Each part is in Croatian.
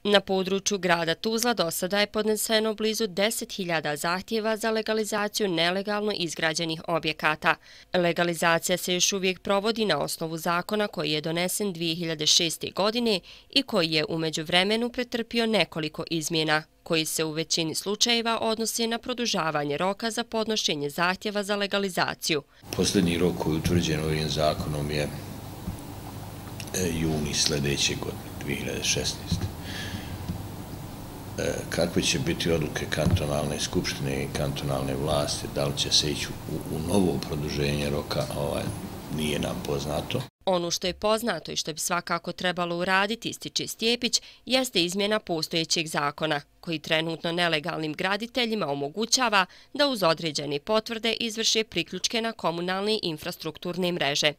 Na području grada Tuzla do sada je podneseno blizu 10.000 zahtjeva za legalizaciju nelegalno izgrađenih objekata. Legalizacija se još uvijek provodi na osnovu zakona koji je donesen 2006. godine i koji je u međuvremenu pretrpio nekoliko izmjena, koji se u većini slučajeva odnosi na produžavanje roka za podnošenje zahtjeva za legalizaciju. Posljednji rok koji je utvrđen ovim zakonom je juni sljedeće godine, 2016. Kakve će biti odluke kantonalne skupštine i kantonalne vlasti, da li će se ići u novo produženje roka, nije nam poznato. Ono što je poznato i što bi svakako trebalo uraditi, ističe Stjepić, jeste izmjena postojećeg zakona, koji trenutno nelegalnim graditeljima omogućava da uz određene potvrde izvrše priključke na komunalne infrastrukturne mreže.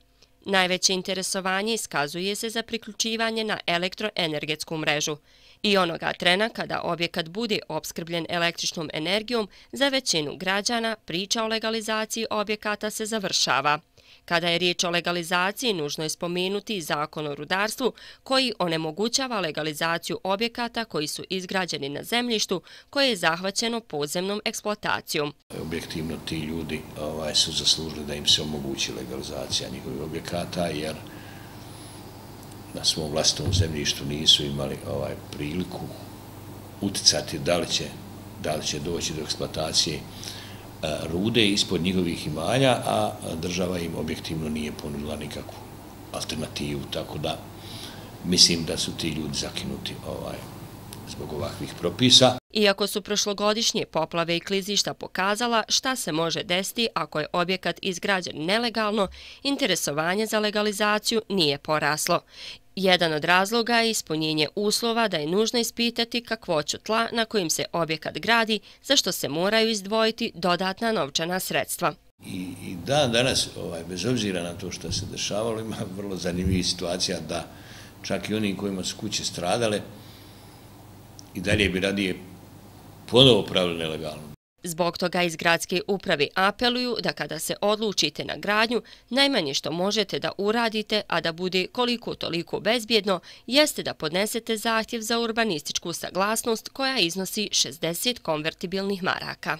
Najveće interesovanje iskazuje se za priključivanje na elektroenergetsku mrežu. I onoga trena kada objekat bude opskrbljen električnom energijom, za većinu građana priča o legalizaciji objekata se završava. Kada je riječ o legalizaciji, nužno je spomenuti i Zakon o rudarstvu koji onemogućava legalizaciju objekata koji su izgrađeni na zemljištu koje je zahvaćeno podzemnom eksploatacijom. Objektivno ti ljudi su zaslužili da im se omogući legalizacija njihovih objekata, jer na svom vlastitom zemljištu nisu imali priliku uticati da li će doći do eksploatacije rude ispod njihovih imanja, a država im objektivno nije ponudila nikakvu alternativu, tako da mislim da su ti ljudi zakinuti zbog ovakvih propisa. Iako su prošlogodišnje poplave i klizišta pokazala šta se može desiti ako je objekat izgrađen nelegalno, interesovanje za legalizaciju nije poraslo. Jedan od razloga je ispunjenje uslova da je nužno ispitati kakvoću tla na kojim se objekat gradi, za što se moraju izdvojiti dodatna novčana sredstva. I danas, bez obzira na to što se dešavalo, ima vrlo zanimljivih situacija da čak i oni kojima su kuće stradale i dalje bi radije ponovo pravili nelegalno. Zbog toga iz gradske uprave apeluju da kada se odlučite na gradnju, najmanje što možete da uradite, a da bude koliko toliko bezbjedno, jeste da podnesete zahtjev za urbanističku saglasnost koja iznosi 60 konvertibilnih maraka.